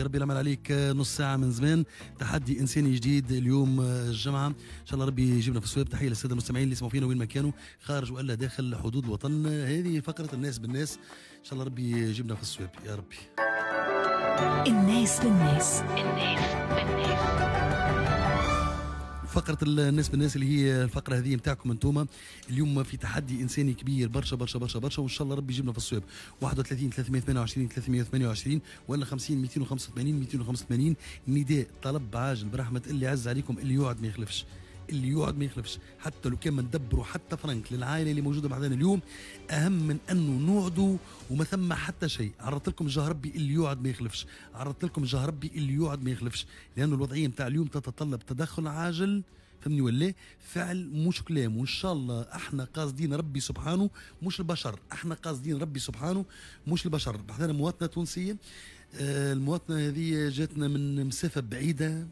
ربي العمل عليك. نص ساعة من زمان، تحدي إنساني جديد اليوم الجمعة، إن شاء الله ربي يجيبنا في الصواب. تحية للسادة المستمعين اللي يسمعوا فينا وين ما كانوا، خارج وإلا داخل حدود الوطن. هذه فقرة الناس بالناس، إن شاء الله ربي يجيبنا في الصواب يا ربي. الناس بالناس، الناس بالناس، فقرة الناس بالناس اللي هي الفقرة هذه نتاعكم انتوما. اليوم في تحدي إنساني كبير برشا برشا برشا برشا، وإن شاء الله ربي يجيبنا في الصواب. 31 328 328 ولا 50 285 285. نداء طلب عاجل برحمة اللي عز عليكم، اللي يوعد ما يخلفش، اللي يوعد ما يخلفش، حتى لو كان ما ندبروا حتى فرنك للعائلة اللي موجودة معنا اليوم، اهم من انه نوعدوا وما ثم حتى شيء. عرضت لكم جاه ربي اللي يوعد ما يخلفش، عرضت لكم جاه ربي اللي يوعد ما يخلفش، لانه الوضعية نتاع اليوم تتطلب تدخل عاجل، فهمني ولا؟ فعل مش كلام. وان شاء الله احنا قاصدين ربي سبحانه مش البشر، احنا قاصدين ربي سبحانه مش البشر. بحثنا مواطنه تونسية، المواطنة هذه جاتنا من مسافة بعيدة،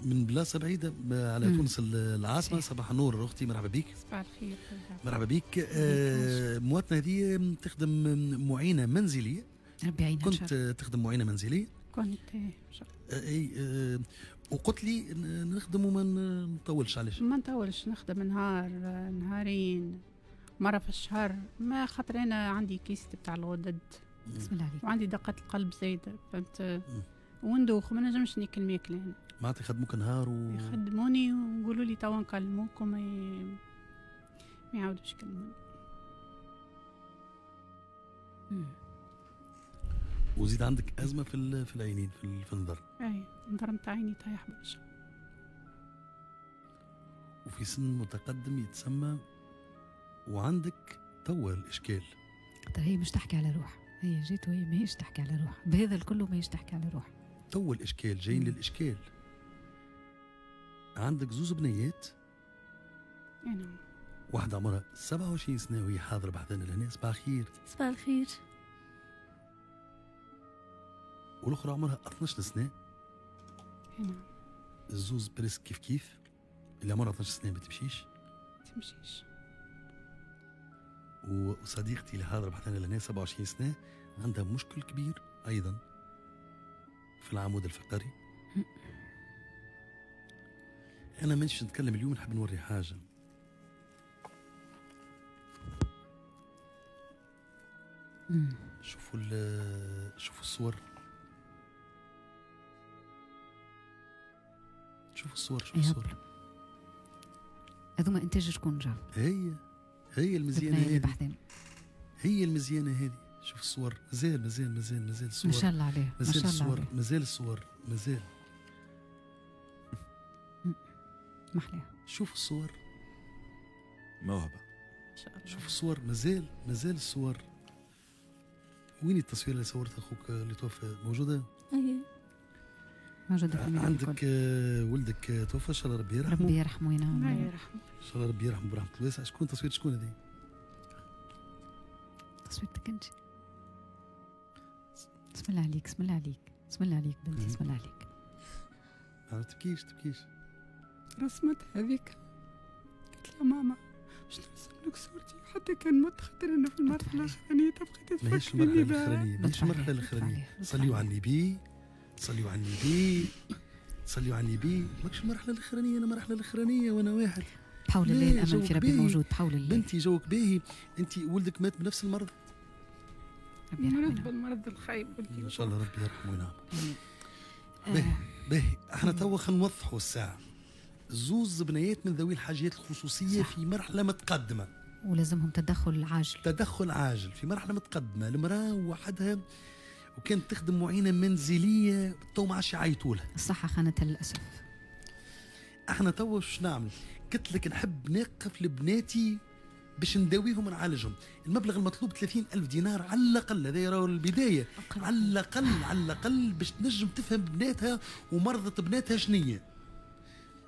من بلاصة بعيدة على تونس العاصمة. صباح النور اختي، مرحبا بك. صباح الخير. مرحبا بك. المواطنة هذه تخدم معينة منزلية. ربي يعينها. كنت تخدم معينة منزلية؟ كنت. اي. وقلت لي نخدم وما نطولش. علاش؟ ما نطولش، نخدم نهار نهارين، مرة في الشهر، ما خاطر انا عندي kyste بتاع الغدد. بسم الله عليك. وعندي دقه القلب زايدة، فهمت؟ وندوخ وما نجمش ناكل ماكله انا. معناتها يخدموك نهار يخدموني ويقولوا لي توا نكلموك وما ما يعاودوش يكلموني. وزيد عندك ازمة في العينين، في النظر. اي، النظر نتاع عيني طايح برشا. وفي سن متقدم يتسمى، وعندك توا الاشكال. طيب هي مش تحكي على روح، هي جات وهي ماهيش تحكي على روح، بهذا الكل ماهيش تحكي على روح. تو الاشكال جايين للاشكال. عندك زوز بنيات. اي نعم. واحدة عمرها 27 سنة وهي حاضرة بحذانا لهنا. صباح الخير. صباح الخير. والأخرى عمرها 12 سنة. اي نعم. الزوز presque كيف كيف. اللي عمرها 12 سنة ما تمشيش. ما تمشيش. وصديقتي اللي حاضرة بحذانا لهنا 27 سنة عندها مشكل كبير أيضا في العمود الفقري. أنا مانيش نتكلم اليوم، نحب نوري حاجة. شوفوا شوفوا الصور، شوفوا الصور، شوفوا الصور. هذوما إنتاج شكون جاب؟ هي المزيانة هذه، هي المزيانة هذه. شوف الصور، مازال مازال مازال مازال الصور. ما شاء الله عليه، مازال الصور، مازال الصور، مازال. محلاها. شوف الصور. موهبة. شوف الصور، مازال مازال الصور. وين التصوير اللي صورت اخوك اللي توفى؟ موجودة؟ اي موجودة في عندك. ولدك توفى، ان شاء الله ربي يرحمه. ربي يرحمه وينعم. الله يرحمه. ان شاء الله ربي يرحمه برحمة الواسعة. شكون تصوير شكون هذه؟ تصويرتك انت. بسم الله عليك، بسم الله عليك، بسم الله عليك بنتي، بسم الله عليك. ما تبكيش تبكيش. رسمت هذيك، قلت لها ماما باش نرسم لك صورتي حتى كان مت، خاطر انا في المرحلة الاخرانية تبقي تتفكريني بها. ماهيش المرحلة الاخرانية. صليوا على النبي، صليوا على النبي، صليوا على النبي. ماكش المرحلة الاخرانية، انا المرحلة الاخرانية وانا واحد. بحول الله الامل في ربي موجود، بحول الله. بنتي جوك باهي، انت ولدك مات بنفس المرض؟ مرض بالمرض الخايب. ان شاء الله ربي يرحمه وينعم. باهي باهي، احنا توا خلينا نوضحوا الساعة. زوز بنيات من ذوي الحاجيات الخصوصية. صح. في مرحلة متقدمة ولازمهم تدخل عاجل. تدخل عاجل في مرحلة متقدمة. المراة وحدها وكانت تخدم معينة منزلية، تو ما عادش يعيطوا لها. الصحة خانتها للاسف. احنا توا واش نعمل؟ قلت لك نحب نقف لبناتي باش نداويهم ونعالجهم. المبلغ المطلوب 30,000 دينار على الاقل، هذا راهو البداية. على الاقل، على الاقل باش تنجم تفهم بناتها ومرضة بناتها شنية.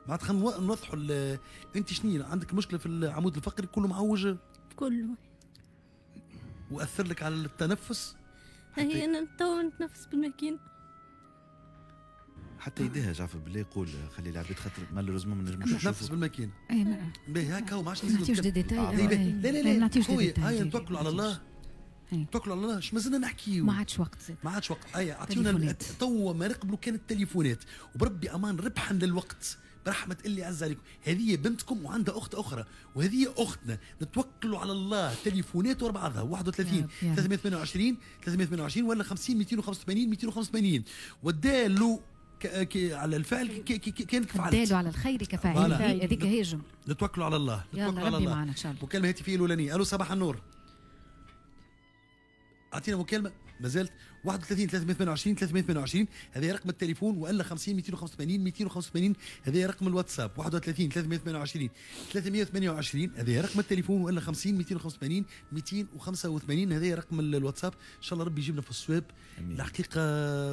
معناتها خلينا نوضحوا. انت شنية عندك مشكلة في العمود الفقري كله معوج؟ كله. واثر لك على التنفس؟ هي انا تو نتنفس بالماكينه. حتى يديها جعفر بالله يقول خلي العباد خاطر malheureusement ما نجموش نتنفس بالماكينه. اي باهي هكا وما عادش نعطيوش des détails. لا لا لا، نعطيوش des détails. هيا نتوكلوا على الله. توكلوا على الله، اش مازلنا نحكيو؟ ما عادش وقت زاد. ما عادش وقت. اي اعطيونا توا ما نقبلوا كان التليفونات، وبربي امان ربحا للوقت برحمة اللي عز عليكم. هذه بنتكم وعندها أخت أخرى وهذه أختنا، نتوكلوا على الله. تليفونات ورا بعضها 31 328 328 ولا 50 285 285. والدال على الفعل كانك فعلت، الدال على الخير كفاعله، هذيك هي الجملة. نتوكلوا على الله، نتوكلوا على الله. معنا إن شاء الله. مكالمة هاتفية الأولانية. ألو صباح النور، أعطينا مكالمة ما زالت 31 328 328 هذا رقم التليفون، والا 50 285 285 هذا رقم الواتساب. 31 328 328 هذا رقم التليفون، والا 50 285 285 هذا رقم الواتساب. ان شاء الله ربي يجيبنا في الصواب. الحقيقة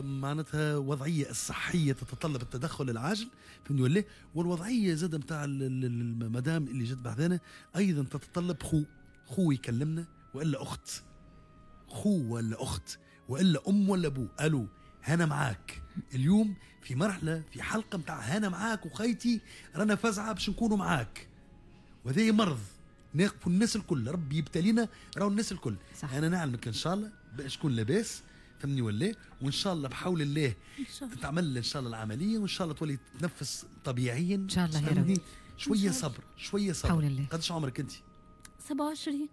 معناتها وضعية الصحية تتطلب التدخل العاجل، فهمتني ولا؟ والوضعيه زاد نتاع المدام اللي جت بحذانا ايضا تتطلب خو يكلمنا، والا اخت، خو ولا اخت، والا ام ولا ابو. الو هنا معاك اليوم في مرحلة، في حلقة نتاع هنا معاك وخيتي، رانا فزعه باش نكونوا معاك. وهذا مرض ناقفوا الناس الكل، ربي يبتلينا راهو الناس الكل. صح. انا نعلمك ان شاء الله باش تكون لاباس، فهمني ولا؟ وان شاء الله بحول الله تتعمل ان شاء الله العملية، وان شاء الله تولي تتنفس طبيعيا ان شاء الله يا رب. شوية صبر، شوية صبر. حول الله. قداش عمرك انت؟ 27.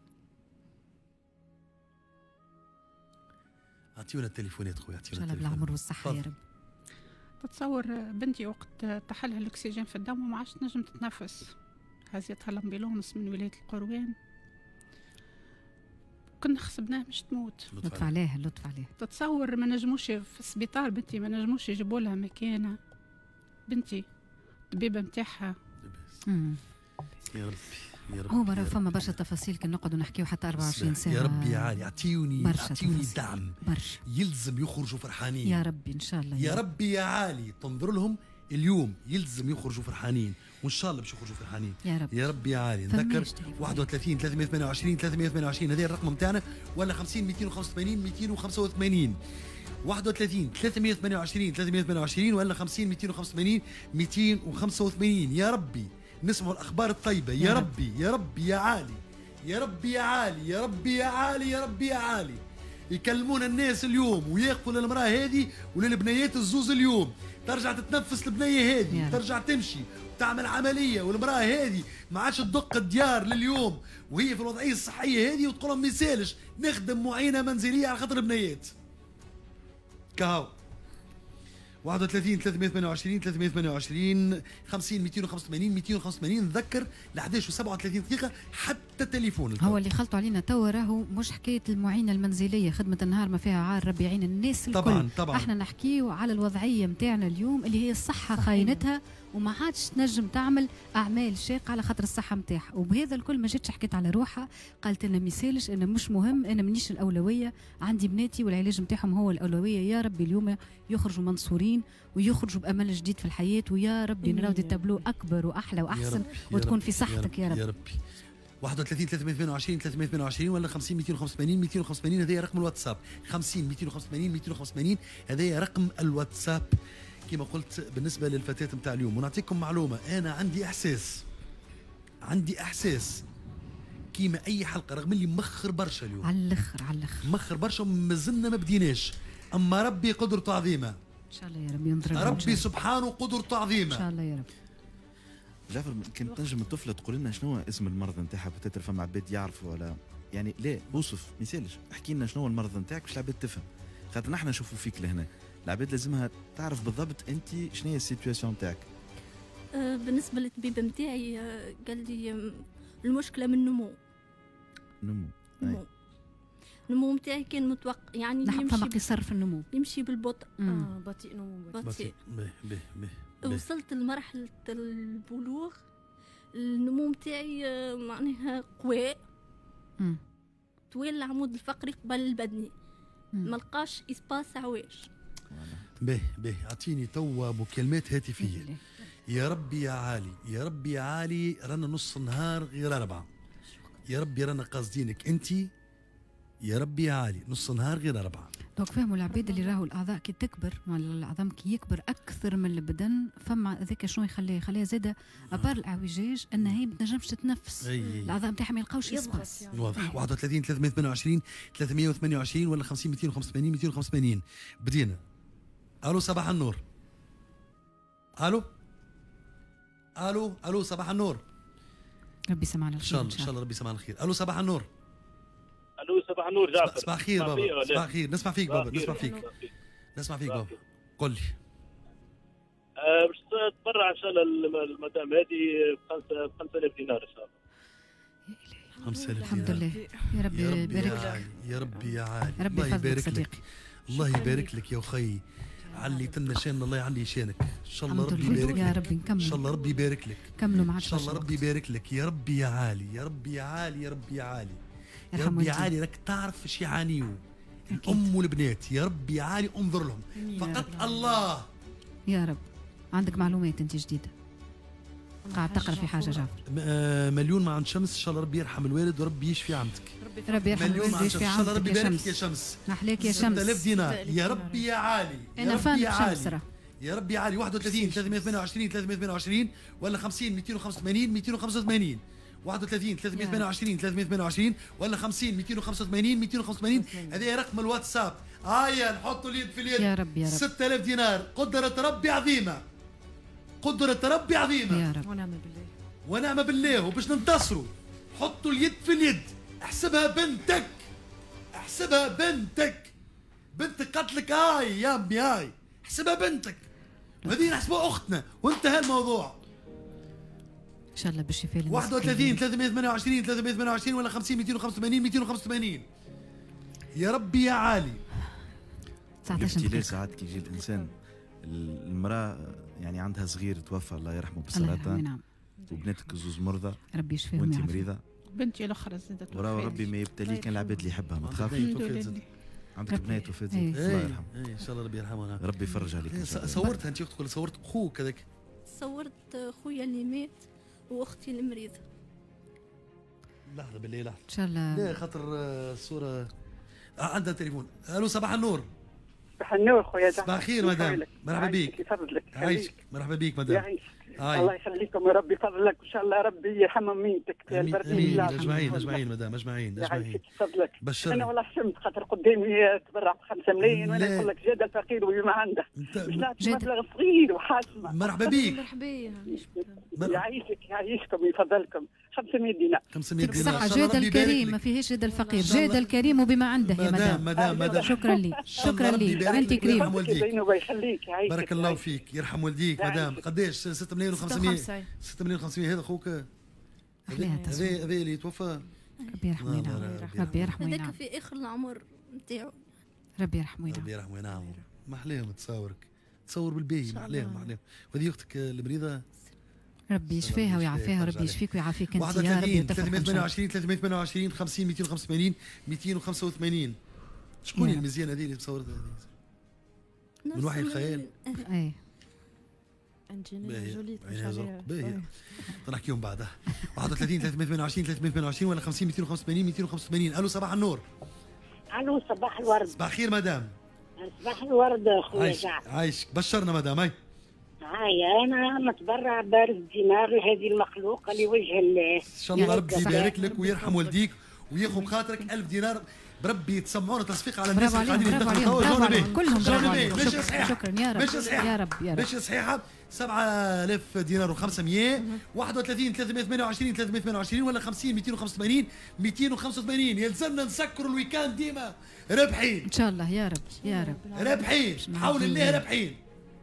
اعطيونا التليفونات خويا، اعطيونا ان شاء الله بالعمر والصحة يا رب. تتصور بنتي وقت تحلها الاكسجين في الدم وما عادش تنجم تتنفس، هزيتها ال ambulance من ولاية القروان، كنا خسبناها مش تموت. لطف عليها، لطف عليها. تتصور ما نجموش في السبيطار بنتي، ما نجموش يجيبوا لها مكانه. بنتي الطبيبة نتاعها. يا ربي يا ربي. هو راه فما برشا تفاصيل كي نقعدوا نحكيو حتى 24 ساعة. يا ربي يا عالي اعطيوني، اعطيوني دعم برشا، يلزم يخرجوا فرحانين يا ربي ان شاء الله. يا ربي يا عالي تنظر لهم اليوم، يلزم يخرجوا فرحانين، وان شاء الله باش يخرجوا فرحانين يا رب. يا ربي يا عالي. نذكر 31 328 328 هذا الرقم نتاعنا، ولا 50 285 285. 31 328 328 ولا 50 285 285. يا ربي نسمعوا الاخبار الطيبة يا ربي، يا ربي يا عالي، يا ربي يا عالي، يا ربي يا عالي، يا ربي يا عالي. يكلمونا الناس اليوم ويقفوا للمراة هذه وللبنيات الزوز اليوم، ترجع تتنفس البنية هذه، ترجع تمشي وتعمل عملية، والمراة هذه ما عادش تدق الديار لليوم وهي في الوضعية الصحية هذه، وتقول لهم ما يسالش نخدم معينة منزلية على خاطر البنيات. كهو 31 328 328 50 285 285. نذكر ل 11 و37 دقيقة حتى تليفون. هو اللي خلطوا علينا توا راهو مش حكاية المعينة المنزلية، خدمة النهار ما فيها عار، ربي يعين الناس الكل. طبعا طبعا. احنا نحكيو على الوضعية نتاعنا اليوم اللي هي الصحة خاينتها وما عادش تنجم تعمل اعمال شاقه على خاطر الصحة نتاعها، وبهذا الكل ما جاتش حكيت على روحها، قالت انا ما يسالش، انا مش مهم، انا مانيش الاولوية، عندي بناتي والعلاج نتاعهم هو الاولوية. يا ربي اليوم يخرجوا منصورين ويخرجوا بامل جديد في الحياة، ويا ربي نراو des tableaux اكبر واحلى واحسن، وتكون في صحتك يا رب. يا ربي. 31 328 328 ولا 50 285 285 هذا رقم الواتساب. 50 285 285 هذا رقم الواتساب كما قلت بالنسبة للفتاة نتاع اليوم. ونعطيكم معلومة، انا عندي احساس، عندي احساس كيما اي حلقة، رغم اللي مخر برشا اليوم على الاخر، على الاخر مخر برشا ومازلنا ما بديناش، اما ربي قدرته عظيمة ان شاء الله يا رب، ينظر ربي سبحانه قدرته عظيمة ان شاء الله يا رب. جعفر، كنت تنجم الطفلة تقول لنا شنو اسم المرض نتاعها؟ peut-être فما عباد يعرفوا ولا يعني لا، وصف ما يسالش، احكي لنا شنو المرض نتاعك باش العباد تفهم، خاطر نحن نشوفوا فيك لهنا، العباد لازمها تعرف بالضبط انت شنو هي ال situation نتاعك. بالنسبة للطبيب نتاعي قال لي المشكلة من النمو. نمو. النمو نتاعي كان متوقع، يعني يمشي فما قصر في النمو، يمشي بالبطء. بطيء نمو، بطيء. به به. وصلت لمرحلة البلوغ، النمو نتاعي معناها قوي، طويل العمود الفقري قبل البدني، ما لقاش espace عواج. به به. اعطيني توا مكالمات هاتفيه. يا ربي يا عالي، يا ربي يا عالي، رانا نص النهار غير أربعة. يا ربي رانا قاصدينك انت، يا ربي يا عالي، نص نهار غير أربعة. donc فهموا العباد اللي راهو الاعضاء كي تكبر، العظم كي يكبر اكثر من البدن، فما هذاك شنو يخليها زاده à part الاعوجاج انها هي ما تنجمش تتنفس، الاعضاء نتاعها ما يلقاوش espace. واضح. 31 328 328 ولا 50 285 285. بدينا. الو صباح النور. الو الو الو صباح النور. ربي يسمعنا الخير ان شاء الله، ان شاء الله ربي يسمعنا الخير. الو صباح النور. الو صباح النور جعفر. صباح الخير بابا. صباح الخير، نسمع فيك بابا، نسمع فيك، نسمع فيك بابا، قل لي. باش تتبرع ان شاء الله المدام هذه ب 5000 دينار ان شاء الله. 5000 دينار. الحمد لله يا ربي يبارك لك. يا ربي يا عالي، ربي الله يبارك صديقي. لك، الله يبارك لك يا اخي، علي تنا شان الله يعلي شانك ان شاء الله، ربي يبارك لك يا ربي. نكمل ان شاء الله، ربي يبارك لك. كملوا معك ان شاء الله، ربي يبارك لك يا ربي يا عالي، يا ربي يا عالي، يا ربي يا عالي، يا ربي يا عالي. راك تعرف اش يعانيو الام والبنات، يا ربي يا عالي انظر لهم فقط الله يا رب. عندك معلومات انت جديدة قاعد تقرا في حاجة جعفر؟ مليون مع عند شمس، ان شاء الله ربي يرحم الوالد وربي يشفي عمتك. ربي يرحم الوالد ويشفي عمتك، ان شاء الله ربي يبارك لك يا شمس. محلاك يا شمس. 6000 دينار يا ربي يا عالي، انا يا ربي يا شمس عالي، يا ربي يا عالي. 31 328 328 ولا 50 285 285. 31 328 328 ولا 50 285 285. هذا رقم الواتساب. هيا نحطوا اليد في اليد يا رب يا رب. 6000 دينار، قدرة ربي عظيمة، قدرة ربي عظيمة يا رب، ونعم بالله، ونعم بالله. وباش ننتصروا حطوا اليد في اليد. احسبها بنتك، احسبها بنتك، بنتك قتلك هاي يا امي هاي، احسبها بنتك، وهذه نحسبها اختنا، وانتهى الموضوع. ان شاء الله بالشفاء. 31 328 328 ولا 50 285 285. يا ربي يا عالي. 19 دقيقة. ساعات كي يجي الانسان المرأة يعني عندها صغير توفى الله يرحمه بالسرطان، نعم، وبناتك زوز مرضى، ربي يشفيهم، وانت مريضة، بنتي الاخرى زادت، وراه ربي ما يبتلي كان العباد اللي يحبها، ما تخافش. عندك بنات وفات، الله يرحمه. ان شاء الله ربي يرحمها، ربي يفرج عليك. صورتها انت اختك ولا صورت اخوك هذاك؟ صورت خويا اللي مات واختي المريضة. لحظة بالله، لحظة ان شاء الله. لا خاطر الصورة عندها تليفون. الو صباح النور. صباح النور خويا جعفر. صباح الخير مدام، مرحبا بك. يفضلك، عايشك، مرحبا بك مدام. يعيشك، الله يخليكم يا ربي يفضلك، وان شاء الله ربي يرحم ميتك يا البرد. اجمعين اجمعين مدام، اجمعين اجمعين. يفضلك. بشرني. انا والله حشمت خاطر قدامي تبرع ب 5 ملايين وانا نقول لك جاد الفقير وما عنده، باش نعطي مبلغ صغير وحاسمه. مرحبا بك. مرحبا. يعيشك، يعيشكم، يفضلكم. 500 دينار. 500 دينار. صح، جاد الكريم ما فيهاش جاد الفقير، جاد الكريم وبما عنده يا مدام. مدام مدام شكرا لي، شكرا لي، انت كريم. يخليك، يعيشك، بارك الله فيك، يرحم والديك مدام. قداش؟ 6 ملايين و500. 6 ملايين و500. هذا اخوك هذا اللي توفى، ربي يرحمه وينعم، ربي يرحمه وينعم. هذاك في اخر العمر نتاعو، ربي يرحمه وينعم، ربي يرحمه وينعم. ما احلاهم تصاورك، تصور بالباهي، ما احلاهم ما احلاهم. وهذه اختك المريضة، ربي يشفيها ويعافيها، ربي يشفيك ويعافيك انت يا ربي. 328 328 50 285 285. شكون المزيانه هذه اللي مصورتها هذه؟ من وحي الخيال. اي انجلينا جولي. عينيها زرق باهية، نحكيهم بعدها. 31 328 328 ولا 50 285 285. الو صباح النور. الو صباح الورد. صباح الخير مدام. صباح الورد خويا جعفر. عايشك، بشرنا مدام. هاي هاي انا متبرع بارز دينار لهذه المخلوقه لوجه الله. ان شاء الله ربي يبارك لك ويرحم والديك وياخذ بخاطرك. 1000 دينار بربي. تسمعونا تصفيق على الناس اللي قاعدين يدخلوا كلهم. برافو عليهم، ماشي صحيحه. شكرا يا رب، ماشي صحيحه يا رب يا رب، ماشي صحيحه. 7000 دينار و500. 31 328 328 ولا 50 285 285. يلزمنا نسكروا ال week-end ديما رابحين ان شاء الله يا رب يا رب، رابحين بحول الله، رابحين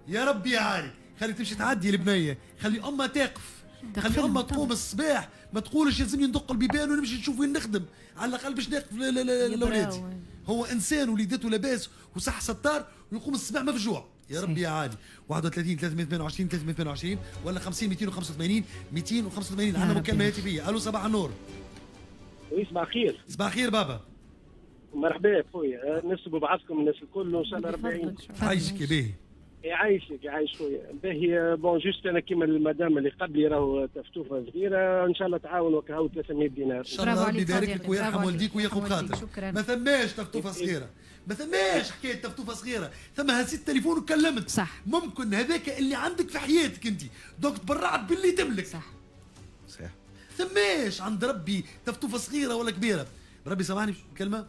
يا رب يا عالي. خلي تمشي تعدي البنية، خلي امها تقف، خلي امها تقوم الصباح، ما تقولش لازمني ندق البيبان ونمشي نشوف وين نخدم، على الاقل باش نقف لاولادي. هو انسان وليدته لاباس وصح ستار ويقوم الصباح مفجوع. يا ربي يا عالي. 31 328 328 ولا 50 285 285. عندنا مكالمة هاتفيه. الو صباح النور. oui صباح الخير. صباح الخير بابا. مرحبا خويا، نسبوا بعضكم الناس الكل وان شاء الله ربي يعينكم. عايشك يا باهي. يعيشك يعيش خويا. باهي bon juste انا كيما المدام اللي قبلي راهو تفتوفه صغيرة ان شاء الله تعاون وكهو 300 دينار. ان شاء الله ربي يبارك لك ويرحم والديك وياخذ خاطرك. ما ثماش تفتوفه صغيرة، ما ثماش حكاية تفتوفه صغيرة، ثم هزيت التليفون وكلمت. صح. ممكن هذاك اللي عندك في حياتك انت، donc تبرعت باللي تملك. صح. صح. ثماش عند ربي تفتوفه صغيرة ولا كبيرة. ربي سامحني كلمة.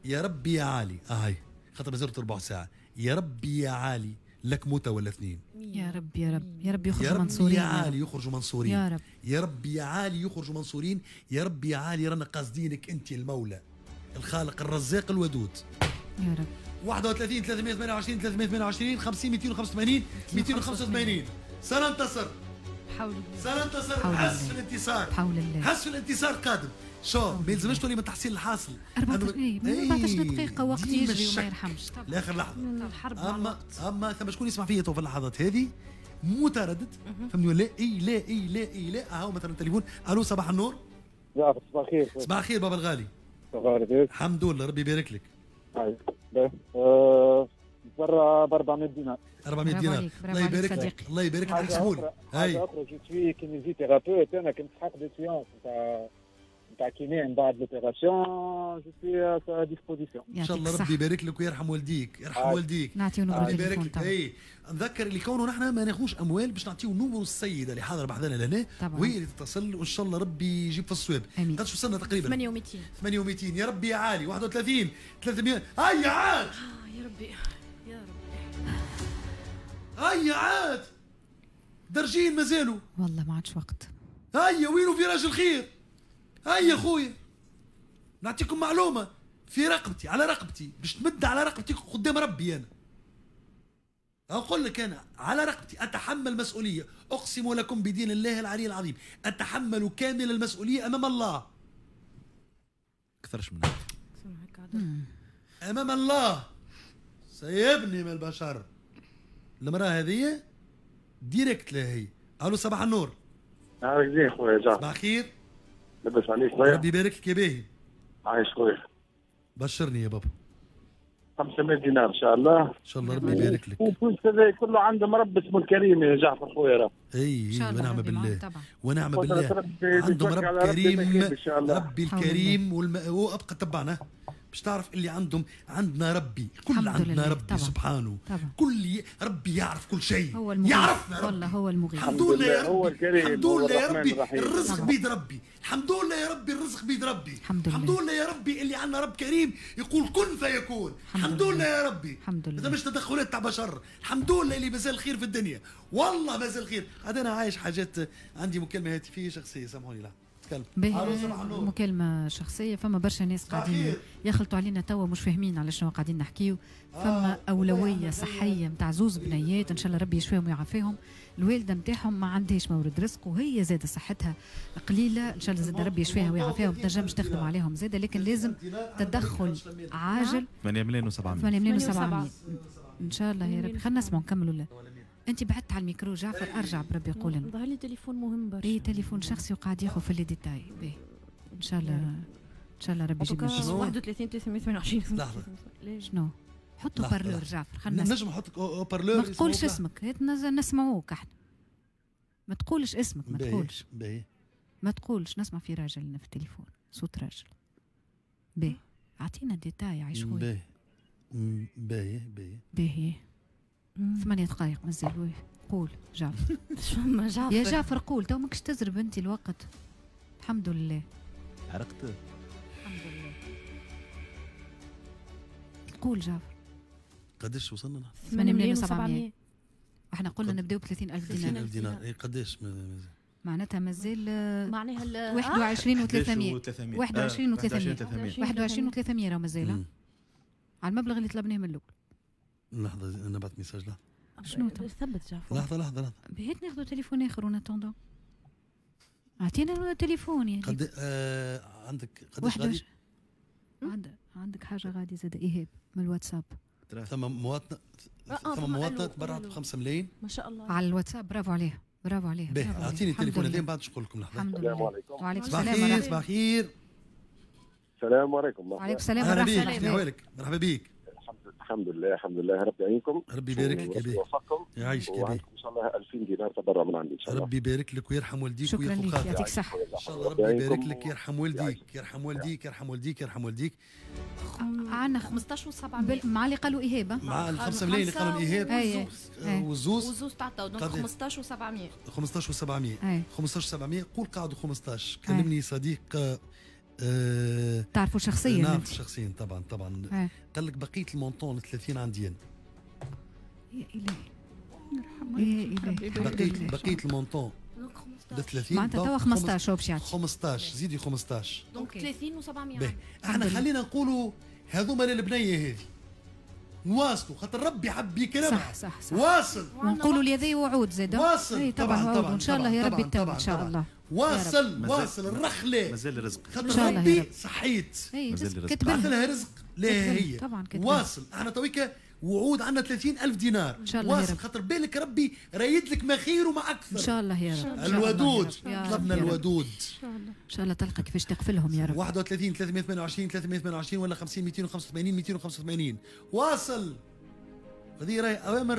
يا ربي يا عالي، هاي خاطر مازالت ربع ساعة. يا ربي يا عالي لك موتة ولا اثنين. يا رب يا رب يا رب يخرجوا منصورين. يا عالي يخرجوا منصورين. يا رب يا رب يا عالي يخرجوا منصورين. يا رب يا عالي رانا قاصدينك انت المولى الخالق الرزاق الودود. يا رب. 31 328 328 50 285 285. سننتصر. بحول الله. سننتصر. حس في الانتصار. بحول الله. حس في الانتصار قادم. شو ما يلزمش تولي من تحصيل الحاصل. 14 دقيقة وقت يجري وما يرحمش. لاخر لحظة. الحرب. اما ثم شكون يسمع فيا تو في اللحظات هذه متردد، فهمني ولا؟ اي لا اي لا اي لا. اهو مثلا تليفون. الو صباح النور. صباح الخير. صباح الخير بابا الغالي. صباح الخير. الحمد لله ربي يبارك لك. برا ب 400 دينار. 400 دينار. الله يبارك لك. الله يبارك لك. احسبوا لي. حاجة أخرى je suis kinésithérapeute، أنا كنت نسحق des séances تاع kiné من بعد l'opération، je suis à disposition. ان شاء الله ربي يبارك لك ويرحم والديك، يرحم والديك. نعطيو numéro التليفون. اي نذكر اللي كونه نحن ما ناخذوش اموال باش نعطيو numéro السيدة اللي حاضره بحذانا لهنا، وهي اللي تتصل وان شاء الله ربي يجيب في الصواب. قداش وصلنا تقريبا؟ 82. 82. يا ربي يا عالي. 31 300. هيا عاد. يا ربي يا ربي. هيا عاد درجين مازالوا. والله ما عادش وقت. هيا وينو فراج الخير؟ هيا خويا نعطيكم معلومة في رقبتي، على رقبتي باش تمد على رقبتي قدام ربي. أنا أقول لك أنا على رقبتي أتحمل مسؤولية، أقسم لكم بدين الله العلي العظيم أتحمل كامل المسؤولية أمام الله. أكثرش من أمام الله. سيبني من البشر. المرأة هذه direct لها هي. ألو صباح النور. نهارك زين خويا جعفر. صباح الخير. لاباس عليك خويا؟ ربي يبارك لك يا باهي. عايش خويا. بشرني يا بابا. 500 دينار ان شاء الله. ان شاء الله ربي يبارك لك. وفلوس هذا كله عندهم رب اسمه الكريم يا جعفر خويا راه. اي ونعم بالله. ونعم بالله. عندهم رب كريم. ربي الكريم وابقى تبعنا باش تعرف اللي عندهم. عندنا ربي، كل عندنا ربي. طبعا. سبحانه. طبعا. كل ربي يعرف كل شيء. هو المغيث. يعرفنا ربي. والله هو المغيث. الحمد لله يا ربي. الحمد لله يا ربي الرزق بيد ربي. الحمد لله يا ربي الرزق بيد ربي. الحمد لله يا ربي اللي عندنا رب كريم يقول كن فيكون. الحمد لله يا ربي. الحمد لله. هذا مش تدخلات تاع بشر. الحمد لله اللي مازال الخير في الدنيا. والله مازال الخير. هذا انا عايش حاجات. عندي مكالمة هاتفيه شخصية سامحوني. لا مكالمة شخصية. فما برشا ناس قاعدين يخلطوا علينا توا مش فاهمين على شنو قاعدين نحكيو. فما أولوية صحية نتاع زوز بنيات إن شاء الله ربي يشفيهم ويعافيهم. الوالدة نتاعهم ما عندهاش مورد رزق وهي زادة صحتها قليلة، إن شاء الله زادة ربي يشفيها ويعافيها وما تنجمش تخدم عليهم زادة، لكن لازم تدخل عاجل. 8 مليون و700. 8 مليون و700 إن شاء الله يا ربي. خلينا نسمعوا نكملوا. لا انت بعدت على الميكرو جعفر، ارجع بربي قول لنا. ظهر لي تليفون مهم برشا. اي تليفون شخصي وقاعد ياخذ في les détails. باهي ان شاء الله ان شاء الله ربي يجيب لنا. 31 328. لحظة شنو؟ حطوا haut-parleur جعفر. خلينا نجم نحط haut-parleur. ما تقولش اسمك، نسمعوك احنا. ما تقولش اسمك، ما تقولش. باهي ما تقولش. نسمع في راجل في التليفون، صوت راجل. باهي اعطينا détails عايش خويا. باهي باهي باهي باهي. 8 دقائق مازال. قول جعفر. شو جعفر؟ يا جعفر قول تو ماكش تزرب انت الوقت. الحمد لله. عرقت. الحمد لله. قول جعفر. قداش وصلنا؟ 8 مليون و700. احنا قلنا نبداو ب 30000 دينار. 30000 دينار. اي قداش مازال؟ معناتها مازال معناها 21 و300. 21 و300. 21 و300 راه مازال على المبلغ اللي طلبناه من الاول. لحظة أنا بعثت message. لحظة شنو ثبت جعفر. لحظة لحظة لحظة. بهيت ناخذ تليفون آخر en attendant. أعطينا تليفون يعني. قد عندك قداش غادي؟ عندك حاجة غادي زاد إيهاب من الواتساب. ثم مواطنة، ثم مواطنة تبرعت ب 5 ملايين ما شاء الله على الواتساب. برافو عليها، برافو عليها. باهي أعطيني التليفون هذا بعد نقول لكم. لحظة. الحمد لله. وعليكم السلام. صباح الخير. السلام عليكم. وعليكم السلام ورحمة الله. مرحبا بك. مرحبا بك. الحمد لله الحمد لله، ربي يعينكم، ربي يبارك لك يا بيه، يوفقكم، يعيشك يا بيه، ان شاء الله 2000 دينار تبرع من عندي ان شاء الله. ربي يبارك لك ويرحم والديك. شكرا لك، يعطيك الصحة. ان شاء الله ربي يبارك لك، يرحم والديك يرحم والديك يرحم والديك يرحم والديك. عندنا 15 و700 مع اللي قالوا ايهاب، مع ال 5 ملايين اللي قالوا ايهاب والزوز تعطوا، donc 15 و700 15 و700 15 و700. قول قعدوا 15. كلمني صديق تعرفوا شخصيا؟ نعرف شخصيا طبعا طبعا. قال لك بقية ال montant ال 30 عندي انا. يا الهي يا الهي، بقية ال montant ل 30 معناتها توا 15 هو باش يعطي 15، زيدي 15 donc 30 و700. احنا خلينا نقولوا هذوما للبنيه هذه نواصلوا، خاطر ربي حب يكرمها. صح صح صح، واصل ونقولوا لهذه وعود زاد، واصل طبعا طبعا ان شاء الله يا ربي التوب ان شاء الله. واصل واصل الرخله، مازال الرزق، خاطر ربي صحيت مازال الرزق، بعث لها رزق لا هي طبعا. واصل احنا تويكا وعود عندنا 30000 دينار ان شاء الله. واصل خاطر بالك ربي رايد لك ما خير وما اكثر ان شاء الله يا رب. الودود، طلبنا الودود ان شاء الله، ان شاء الله تلقى كيفاش تقفلهم يا رب. 31 328 328 ولا 50 285 285. واصل، هذه راهي اوامر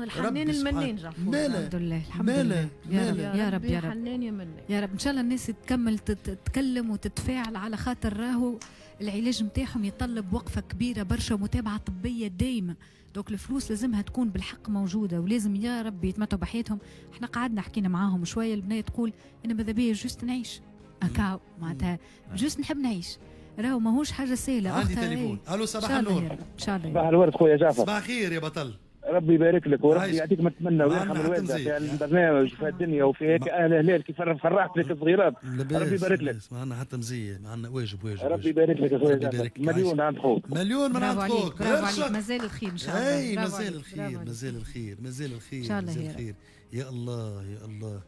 الحنان المنان جعفور. الحمد لله الحمد لله يا رب يا رب يا رب، حنان يا منان يا رب. ان شاء الله الناس تكمل تتكلم وتتفاعل، على خاطر راهو العلاج نتاعهم يتطلب وقفه كبيرة برشا ومتابعة طبية دايمه، donc الفلوس لازمها تكون بالحق موجودة، ولازم يا رب يتمتعوا بحياتهم. احنا قعدنا حكينا معاهم شوية، البنية تقول انا ماذا بيا juste نعيش اكاو، معناتها juste نحب نعيش، راهو ماهوش حاجة سهلة. عندي تليفون. الو صباح النور. ان شاء الله. صباح الورد خويا جعفر. صباح الخير يا بطل، ربي يبارك لك وربي يعطيك ما تتمنى ويرحم الوالدة في البرنامج وفي الدنيا وفي هيك اهل هلال كيف فرحت لك الصغيرات. ربي يبارك لك. معنا حتى مزية، معنا واجب واجب. ربي يبارك لك يا خويا. مليون عند خوك، مليون من عند خوك. برافو عليك، مازال الخير ان شاء الله. اي مازال الخير مازال الخير مازال الخير مازال الخير. يا الله يا الله،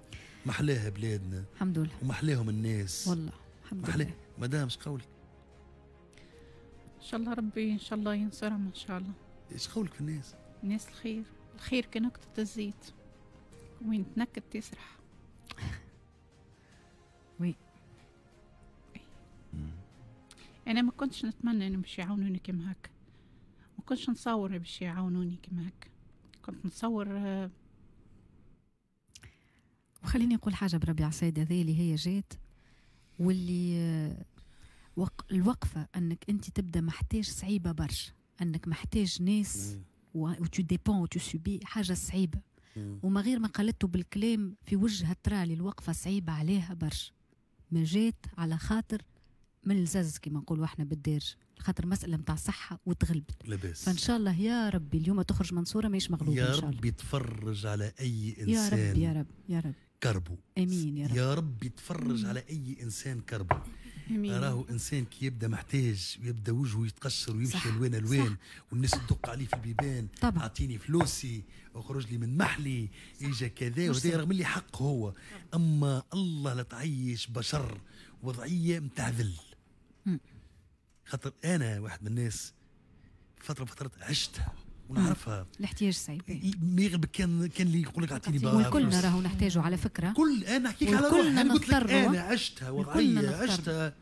محلاها بلادنا الحمد لله، ومحلاهم الناس والله الحمد لله. مدام اش قولك؟ ان شاء الله ربي ان شاء الله ينصرهم ان شاء الله. ايش قولك في الناس؟ الناس الخير، الخير كنكتة الزيت، وين تنكت تسرح. oui انا ما كنتش نتمنى انهم باش يعاونوني كيما هكا، ما كنتش نصور باش يعاونوني كيما هكا، كنت نتصور. وخليني نقول حاجة بربي على السيدة ذي اللي هي جات واللي الوقفة انك انت تبدا محتاج صعيبة برشا، انك محتاج ناس و tu dépends و tu subis حاجة صعيبة. وما غير ما قالته بالكلام في وجهها ترى الوقفة صعيبة عليها برشا، ما جات على خاطر من الزز كما نقولوا احنا بالدارج، خاطر مسالة نتاع صحة وتغلبت. لاباس. فان شاء الله يا ربي اليوم تخرج منصورة ماهيش مغلوبه يا رب. يتفرج على اي انسان يا رب يا رب يا رب كربو. امين يا رب. يا رب يتفرج على اي انسان كربو. راهو انسان كي يبدا محتاج ويبدا وجهه يتقشر ويمشي الوان الوان والناس تدق عليه في البيبان، اعطيني فلوسي، اخرج لي من محلي، اجا كذا وهذا، رغم اللي حق هو. اما الله لا تعيش بشر وضعية نتاع ذل. خاطر انا واحد من الناس فترة فترات عشتها ونعرفها. الاحتياج صعيب. ما يغلب كان اللي يقول لك اعطيني بقى. والكلنا راهو نحتاجه على فكرة. كل انا نحكيك على روحي، انا قلت لك انا عشتها وضعية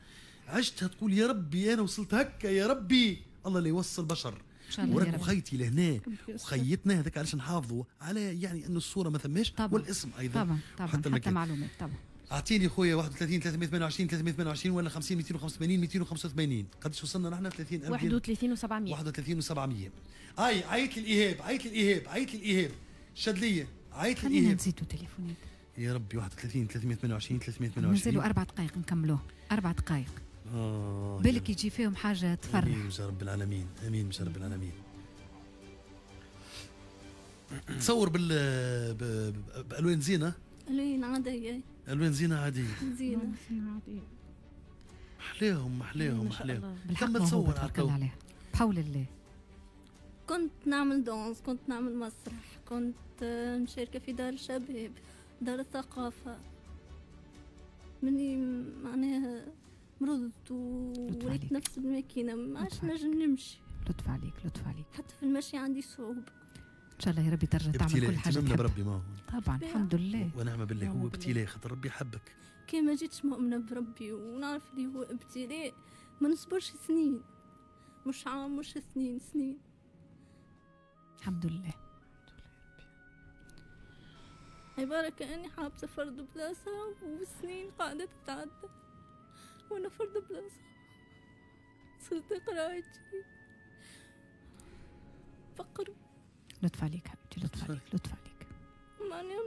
عشتها تقول يا ربي انا وصلت هكا يا ربي، الله اللي يوصل بشر. وراك وخيتي لهنا وخيتنا هذاك علاش نحافظوا على يعني انه الصورة ما ثماش والاسم ايضا طبعا طبعا حتى معلومات طبعا. اعطيني خويا 31 328 328 ولا 50 285 285. قداش وصلنا نحن؟ 30 31 و700 31 و700. اي عيط للايهاب، عيط للايهاب، عيط للايهاب، شد ليا، عيط للايهاب. خلينا نزيدوا تليفونات يا ربي. 31 328 328 مازالوا 4 دقائق نكملوه، 4 دقائق. بالك يجي فيهم حاجة تفرح. امين يا رب العالمين، امين يا رب العالمين. تصور بالوان زينة، الوان عادية، الوان زينة عادية، زينة عادية. محلاهم محلاهم محلاهم. كم تصور عليها بحول الله. كنت نعمل danse، كنت نعمل مسرح، كنت مشاركة في دار الشباب، دار الثقافة. مني معناها مرضت ووليت نفس الماكينة، ما عادش نجم نمشي. لطف عليك لطف عليك. حتى في المشي عندي صعوبة. ان شاء الله يا ربي ترجع تعمل كل حاجة تحبها. بربي ما هو طبعا الحمد لله ونعم بالله. هو ابتلاء خاطر ربي حبك. كي ما جيتش مؤمنة بربي ونعرف اللي هو ابتلاء ما نصبرش سنين، مش عام مش 2 سنين. الحمد لله. عبارة كأني حابسة فرد بلاصة وسنين قاعدة تتعدى وأنا فرد بلاصة. صرت قرايتي فقر. لطف عليك حبيبتي، لطف عليك، لطف عليك. معناها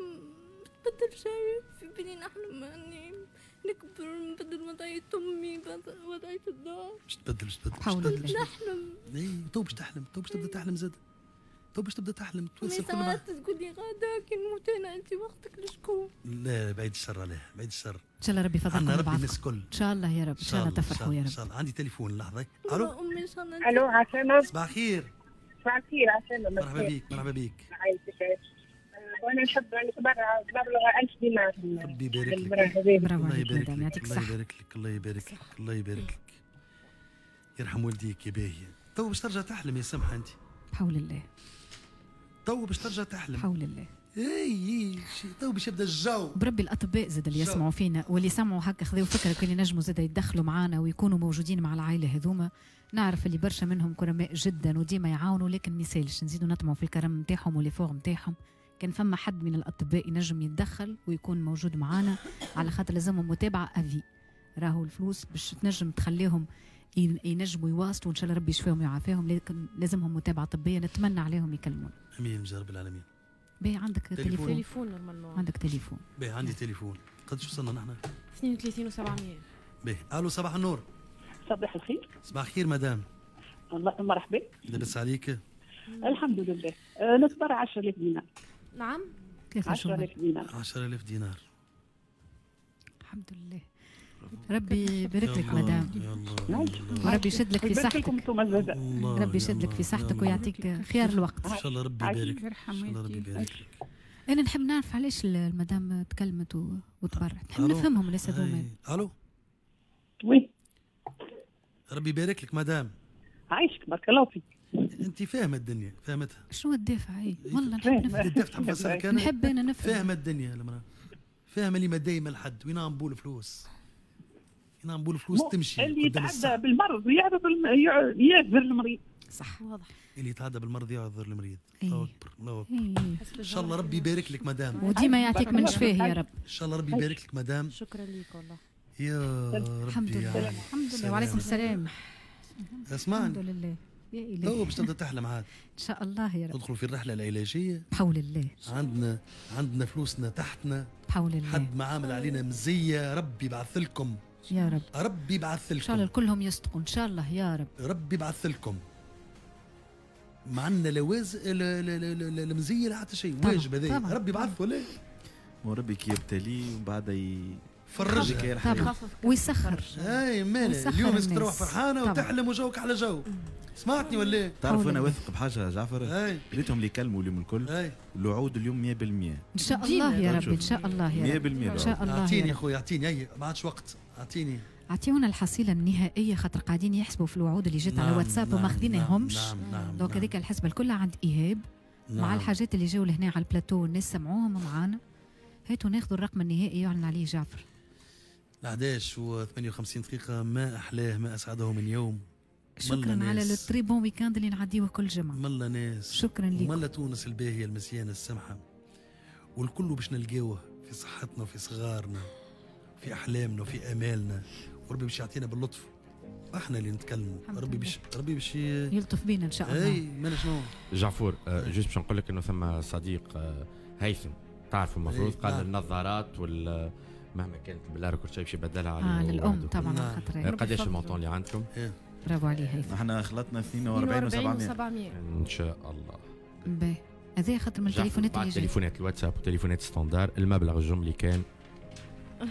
متبدل شيء في بالي، نحلم اني نكبر نبدل وضعية أمي، وضعية الدار. باش تبدل، باش تبدل، حول الله. نحلم. اي تو باش تحلم، تو باش تبدا تحلم زاد، تو باش تبدا تحلم. توصل كل ساعات تقول لي غادا كي نموت انا انت وقتك لشكون؟ لا بعيد الشر عليه، بعيد الشر. ان شاء الله ربي يفضلكم عندنا ربي لبعضكم. الناس الكل. ان شاء الله يا رب، ان شاء الله تفرحوا يا ان رب. شاء الله. عندي تليفون لحظة. الو امي ان شاء الله. الو عسلامة. صباح الخير. صباح الخير عسلامة. مرحبا بك، مرحبا بك. عايشك. وانا نحب نتبرع بمبلغ 1000 دينار. ربي يبارك لك. برافو الله عليك يبارك مدام، لك، يعطيك الله الصحة. يبارك لك، الله يبارك لك، الله يبارك لك. يرحم والديك يا باهية. تو باش ترجع تحلم يا سمحة انت. بحول الله. تو باش ترجع تحلم. بحول الله. اي تو باش يبدا الجو. بربي الاطباء زاد اللي يسمعوا فينا واللي سمعوا هكا خذوا فكرة كان ينجموا زاد يتدخلوا معانا ويكونوا موجودين مع العائلة هذوما. نعرف اللي برشا منهم كرماء جدا وديما يعاونوا، لكن ما يسالش نزيدوا نطمعوا في الكرم نتاعهم و les efforts نتاعهم. كان فما حد من الاطباء ينجم يتدخل ويكون موجود معانا، على خاطر لازمهم متابعه à vie. راهو الفلوس باش تنجم تخليهم ينجموا يواصلوا، وان شاء الله ربي يشفيهم ويعافيهم، لكن لازمهم متابعه طبية. نتمنى عليهم يكلمونا. امين يا رب العالمين. باهي عندك تليفون. تليفون normalement. عندك تليفون. باهي عندي تليفون. قداش وصلنا نحن؟ 32 و700. باهي الو صباح النور. صباح الخير. صباح الخير مدام. الله مرحبا. لاباس عليك؟ الحمد لله. نتبرع 10000 دينار. نعم. 10000 دينار. 10000 دينار. الحمد لله. ربي يبارك لك مدام. وربي يشد لك في صحتك. ربي يشد لك في صحتك ويعطيك خيار الوقت. ان شاء الله ربي يبارك. ان شاء الله ربي يبارك لك. انا نحب نعرف علاش المدام تكلمت وتبرعت، نحب نفهمهم الناس هذوما. الو. oui. ربي يبارك لك مدام. عايشك بارك الله فيك. انت فاهمه الدنيا، فاهمتها. شنو الدافع؟ اي والله نحب نفهم. الدافع تحب نفسرك انا؟ نحب انا نفهم. فاهمه الدنيا المراة. فاهمه اللي ما دايما لحد، وين نبول فلوس. وين نبول فلوس تمشي. اللي يتعدى بالمرض يعذر المريض. صح واضح. اللي يتعدى بالمرض يعذر المريض. الله اكبر، الله اكبر. ان شاء الله ربي يبارك لك مدام. وديما يعطيك من شفاه يا رب. ان شاء الله ربي يبارك لك مدام. شكرا لك والله. يا ربي. الحمد لله، الحمد لله. وعليكم السلام. اسمعني. الحمد لله. يا إلهي. تو باش تبدا تحلم عاد. ان شاء الله يا رب. ندخلوا في الرحلة العلاجية. بحول الله. عندنا فلوسنا تحتنا. بحول الله. حد ما عامل علينا مزية، ربي يبعث لكم. يا رب. ربي يبعث لكم. ان شاء الله كلهم يصدقوا ان شاء الله يا رب. ربي يبعث لكم. ما عندنا لواز المزية لا حتى شيء، واجب هذا. ربي يبعث ولا؟ وربي كي يبتلي ومن بعد فرجها ويسخر. اي مالي اليوم لازم تروح فرحانة وتحلم وجوك على جو. سمعتني ولا إيه؟ تعرف انا واثق بحاجة جعفر، ريتهم اللي يكلموا اليوم الكل، الوعود اليوم 100%. ان شاء الله يا رب، ان شاء الله يا رب، 100% ان شاء الله. اعطيني يا خويا، اعطيني، هي ما عادش وقت، اعطيني. اعطيونا الحصيلة النهائية خاطر قاعدين يحسبوا في الوعود اللي جات على واتساب وما خذيناهمش. donc هذيك الحسبة الكل عند ايهاب مع الحاجات اللي جاوا لهنا على البلاتو والناس سمعوهم معانا. هاتوا ناخذوا الرقم النهائي يعلن عليه جعفر. 11:58 دقيقة. ما أحلاه ما أسعده من يوم. شكرا على ال très bon week-end اللي نعديوه كل جمعة. ملا ناس. شكرا لكم. ملا تونس الباهية المزيانة السمحة. والكل باش نلقاوه في صحتنا وفي صغارنا في أحلامنا وفي آمالنا، وربي باش يعطينا باللطف. احنا اللي نتكلموا، ربي باش يلطف بينا ان شاء الله. اي مالا شنو؟ جعفور juste باش نقول لك انه ثم صديق هيثم تعرفوا المفروض قال النظارات وال مهما كانت بالله كل شيء باش يبدلها على للام طبعا خاطر قداش ال montant اللي عندكم؟ برافو عليه هيثم. احنا خلطنا 42 و700 ان شاء الله. باهي هذا خاطر من التليفونات اللي جات، تليفونات الواتساب وتليفونات standard. المبلغ الجملي كان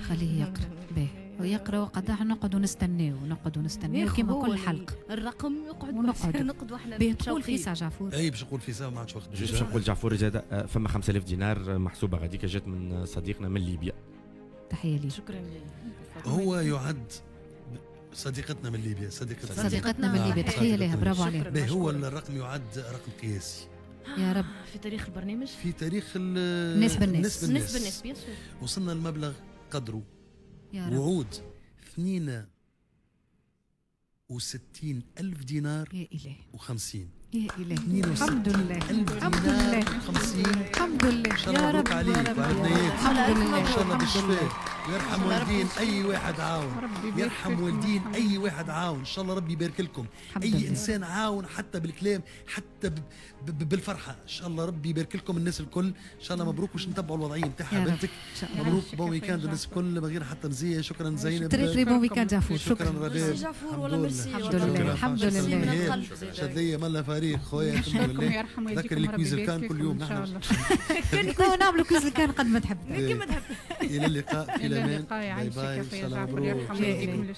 خليه يقرا. باهي ويقرا وقداح نقعدوا نستناو كيما كل حلقة الرقم يقعد نقعد واحنا تقول في ساعة جعفور. اي باش نقول في ساعة ما عادش وقت. juste باش نقول جعفور زاد فما 5000 دينار محسوبة غاديك جات من صديقنا من ليبيا. تحية ليه. شكرا ليه. هو يعد صديقتنا من ليبيا، صديقتنا من ليبيا، تحية لها، برافو عليها. هو الرقم يعد رقم قياسي يا رب في تاريخ البرنامج، في تاريخ الناس بالناس، الناس بالناس bien sûr. وصلنا المبلغ قدره يا رب. وعود 2 62 ألف دينار يا إلهي و50. يا إلهي، الحمد لله، الحمد لله، 50. الحمد لله. ان شاء الله يا مبروك رب، عليك يا رب. وعلى بنياتك. الحمد لله، ان شاء الله الحمد بالشفاء. لله. ويرحم والدين اي واحد عاون، ربي يبارك يرحم فيكم. والدين اي واحد عاون، ان شاء الله ربي يبارك لكم. الحمد اي لله. انسان عاون حتى بالكلام، حتى بالفرحه، ان شاء الله ربي يبارك لكم الناس الكل. ان شاء الله مبروك، باش نتبعوا الوضعية نتاعها يا رب. بنتك. إن شاء الله. مبروك، يعيشك bon يا week-end خويا الناس الكل من غير حتى مزية. شكرا زينب. très très bon week-end جعفور. شكرا شكرا. رباب. ميرسي جعفور، والله ميرسي. الحمد لله، الحمد لله. من القلب زاد. شدلية ملا فريق خويا، الحمد نشكركم، لله. يرحم ذكر والديكم، ال quiz ربي الكان يبارك كل يوم فيكم إن شاء نحن. الله. تو نعملوا quiz الكان قد ما تحب. الى اللقاء في إلى الامان. اللقاء، باي يعيشك باي، يا ان شاء خويا الله جعفر، مبروك. يرحم والديكم.